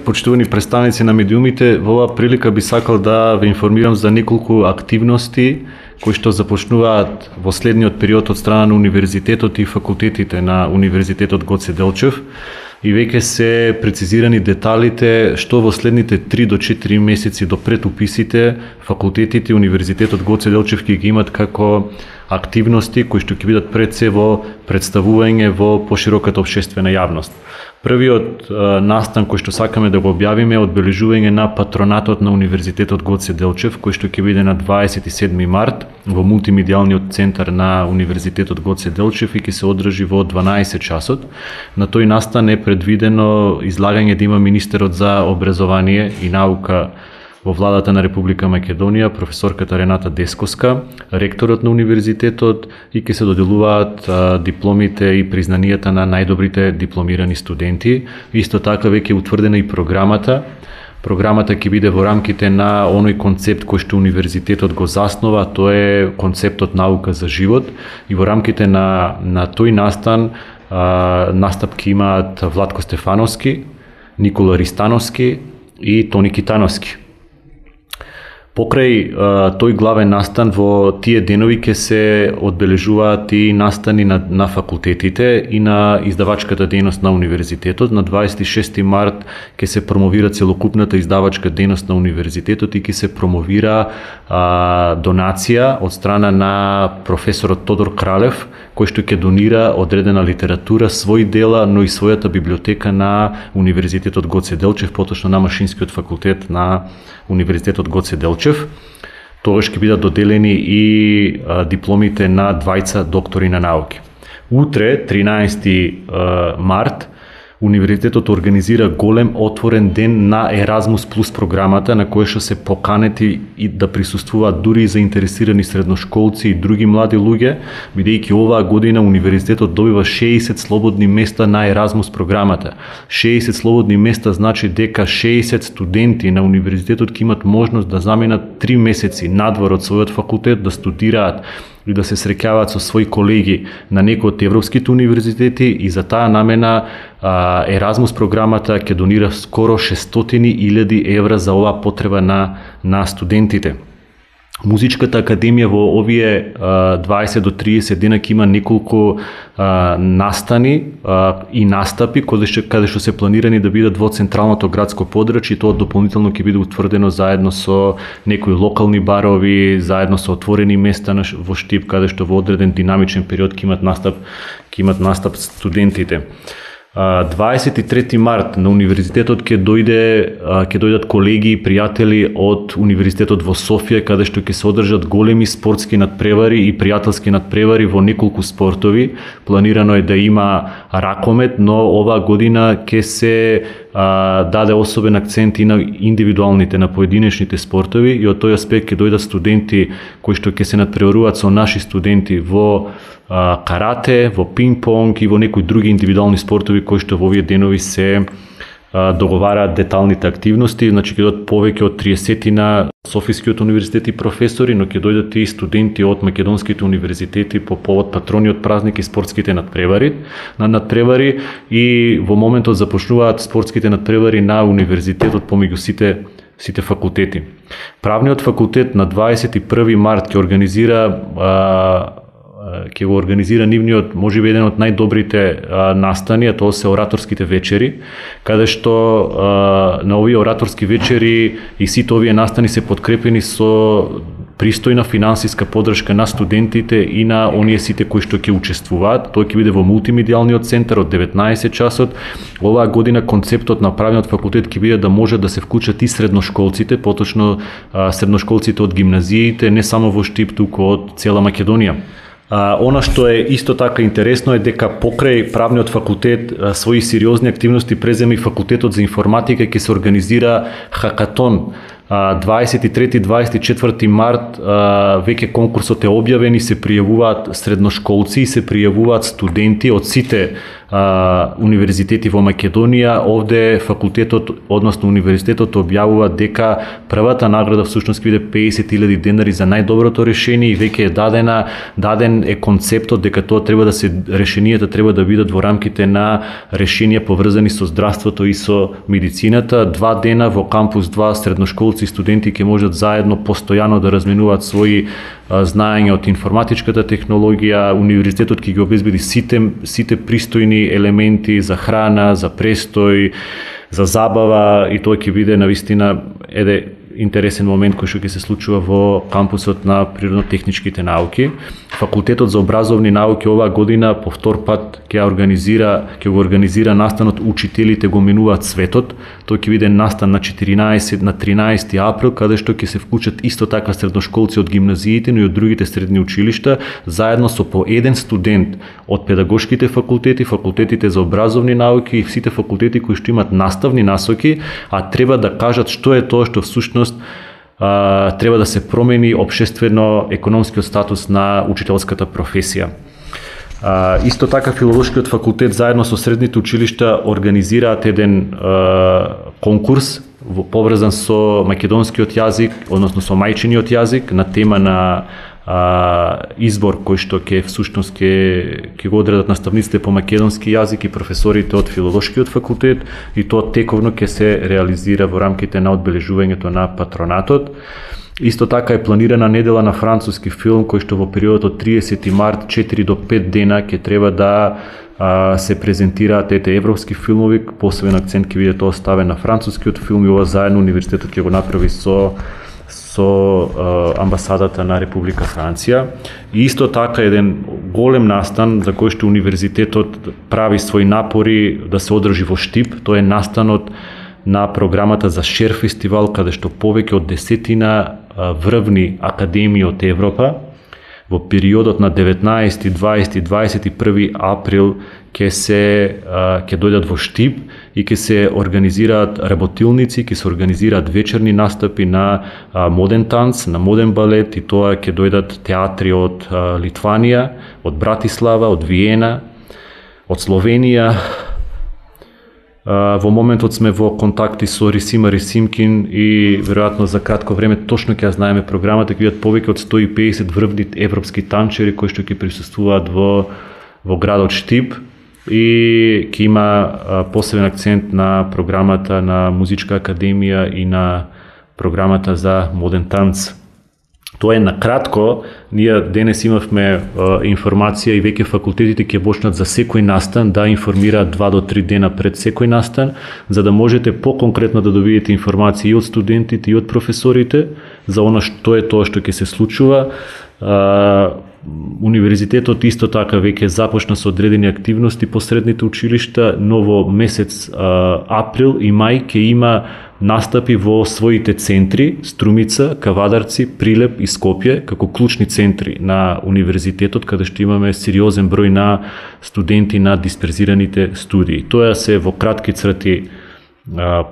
почитувани представници на медиумите, во оваа прилика би сакал да ве информирам за неколку активности кои што започнуваат во следниот период од страна на универзитетот и факултетите на Универзитетот Гоце Делчев и веќе се прецизирани деталите што во следните 3 до 4 месеци до пред уписите факултетите и Универзитетот Гоце Делчев ќе ги имат како активности кои што ќе бидат пред се во представување во пошироката општествена јавност. Првиот настан кој што сакаме да го објавиме е одбележување на патронатот на Универзитетот Гоце Делчев, кој што ќе биде на 27 март во мултимедијалниот центар на Универзитетот Гоце Делчев и ќе се одржи во 12 часот. На тој настан е предвидено излагање да има министерот за образование и наука во владата на Република Македонија, професорката Рената Десковска, ректорот на универзитетот и ќе се доделуваат дипломите и признанијата на најдобрите дипломирани студенти. Исто така веќе е утврдена и програмата. Програмата ќе биде во рамките на оној концепт кој што универзитетот го заснова, тоа е концептот наука за живот и во рамките на тој настан настапки имаат Владко Стефановски, Никола Ристановски и Тони Китановски. Покрај тој главен настан во тие денови ќе се одбележуваат и настани на факултетите и на издавачката дејност на универзитетот. На 26 март ќе се промовира целокупната издавачка дејност на универзитетот и ќе се промовира донација од страна на професорот Тодор Кралев, кој што ќе донира одредена литература, своји дела, но и својата библиотека на Универзитетот Гоце Делчев, поточно на Машинскиот факултет на Универзитетот Гоце Делчев. Тогаш ќе бидат доделени и дипломите на двајца доктори на науки. Утре, 13 март, Универзитетот организира голем отворен ден на Еразмус Плюс програмата, на која што се поканети и да присуствуваат дури и заинтересирани средношколци и други млади луѓе, бидејќи оваа година Универзитетот добива 60 слободни места на Еразмус програмата. 60 слободни места значи дека 60 студенти на Универзитетот ќе имат можност да заменат 3 месеци надвор од својот факултет, да студираат и да се среќаваат со своји колеги на некои од европските универзитети и за таа намена Еразмус програмата ќе донира скоро 600.000 евра за оваа потреба на студентите. Музичката академија во овие 20 до 30 дена ќе има неколку настани и настапи каде што се планирани да бидат во централното градско подрачје, тоа дополнително ќе биде утврдено заедно со некои локални барови, заедно со отворени места во Штип, каде што во одреден динамичен период ќе имат настап студентите. 23 март на универзитетот ќе дојдат колеги и пријатели од Универзитетот во Софија, каде што ќе се одржат големи спортски надпревари и пријателски надпревари во неколку спортови. Планирано е да има ракомет, но оваа година ќе се даде особен акцент и на индивидуалните, на поединечните спортови и од тој аспект ќе дојдат студенти кои што ќе се надпреваруваат со наши студенти во карате, во пинг-понг и во некои други индивидуални спортови кои што во овие денови се договараат деталните активности. Значи ќе дојдат повеќе од 30 на Софискиот универзитет и професори, но ќе дојдат и студенти од македонските универзитети по повод патрониот празник и спортските надпревари и во моментот започнуваат спортските надпревари на универзитетот помеѓу сите факултети. Правниот факултет на 21 март ќе го организира нивниот, можеби еден од најдобрите настани, тоа се ораторските вечери, каде што на овие ораторски вечери и сите овие настани се подкрепени со пристојна финансиска поддршка на студентите и на оние сите кои што ќе учествуваат. Тој ќе биде во мултимедијалниот центар од 19 часот. Оваа година концептот на правниот факултет ќе биде да може да се вклучат и средношколците, поточно средношколците од гимназиите, не само во Штип, туку од цела Македонија. Она што е исто така интересно е дека покрај правниот факултет своји сериозни активности презема и факултетот за информатика, ќе се организира хакатон 23-24 март. Веќе конкурсот е објавен и се пријавуваат средношколци и се пријавуваат студенти од сите универзитети во Македонија, овде факултетот, односно универзитетот објавува дека првата награда всушност биде 50.000 денари за најдоброто решение и веќе е даден е концептот дека тоа треба да се решенијата треба да бидат во рамките на решенија поврзани со здравството и со медицината. 2 дена во кампус 2 средношколци и студенти ќе можат заедно постојано да разменуваат своји знаења од информатичката технологија. Универзитетот ќе ги обезбеди сите пристојни елементи за храна, за престој, за забава и тоа ќе биде навистина интересен момент кој што ќе се случува во кампусот на природно-техничките науки. Факултетот за образовни науки оваа година по втор пат ќе го организира настанот Учителите го менуваат светот. Тој ќе биде настан на 13 април, каде што ќе се вклучат исто така средношколци од гимназиите, но и од другите средни училишта, заедно со по еден студент од педагошките факултети, факултетите за образовни науки и сите факултети кои што имат наставни насоки, а треба да кажат што е тоа што всушност треба да се промени општествено-економскиот статус на учителската професија. Исто така Филолошкиот факултет заедно со средните училишта организираат еден конкурс поврзан со македонскиот јазик, односно со мајчиниот јазик, на тема на избор кој што ќе го одредат наставниците по македонски јазик и професорите од Филолошкиот факултет, и тоа тековно ќе се реализира во рамките на одбележувањето на патронатот. Исто така е планирана недела на француски филм кој што во периодот од 30 март 4 до 5 дена ќе треба да се презентираат европски филмови, посебен акцент ќе биде тоа ставен на францускиот филм и ова заедно универзитетот ќе го направи со амбасадата на Република Франција. И исто така еден голем настан за кој што универзитетот прави своји напори да се одржи во Штип, тоа е настанот на програмата за Шер фестивал, каде што повеќе од 10 врвни академии од Европа во периодот на 19, 20 и 21 април ќе дојдат во Штип и ќе се организираат работилници, ќе се организираат вечерни настапи на моден танц, на моден балет, и тоа ќе дојдат театри од Литванија, од Братислава, од Виена, од Словенија. Во моментот сме во контакти со Рисима Рисимкин и веројатно за кратко време точно ќе знаеме програмата, ќе бидат повеќе од 150 врвни европски танчери кои што ќе присуствуваат во градот Штип, и ќе има посебен акцент на програмата на Музичка академија и на програмата за моден танц. Тоа е накратко. Ние денес имавме информација и веќе факултетите ќе почнат за секој настан да информираат 2 до 3 дена пред секој настан, за да можете поконкретно да добиете информација и од студентите и од професорите за она што е тоа што ќе се случува. Универзитетот исто така веќе започна со одредени активности по средните училишта, но во месец април и мај ќе има настапи во своите центри, Струмица, Кавадарци, Прилеп и Скопје, како клучни центри на универзитетот, каде што имаме сериозен број на студенти на дисперзираните студии. Тоа се во кратки црти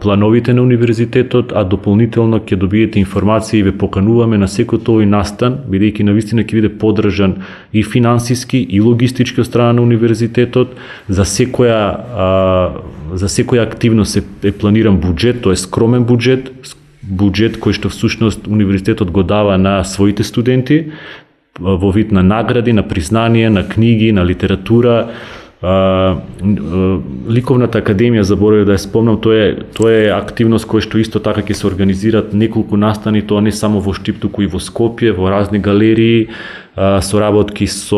плановите на универзитетот, а дополнително ќе добиете информација и ве покануваме на секој тој настан, бидејќи навистина ќе биде поддржан и финансиски и логистички од страна на универзитетот. За секоја активност е планиран буџет, тоа е скромен буџет кој што всушност универзитетот го дава на своите студенти во вид на награди, на признание, на книги, на литература. Ликовната академија, заборавив да ја спомнам, тоа е активност која што исто така ќе се организираат неколку настани, тоа не само во Штип, туку и во Скопје, во разни галерии, соработки со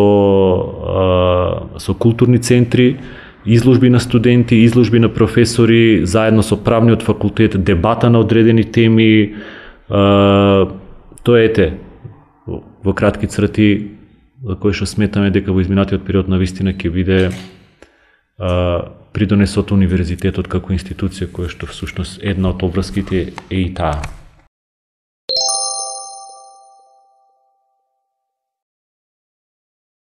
културни центри, изложби на студенти, изложби на професори, заедно со правниот факултет, дебата на одредени теми. Тоа во кратки црти за кој што сметаме дека во изминатиот период на вистина ќе биде придонесот универзитетот како институција која што всушност една од обврските е и таа.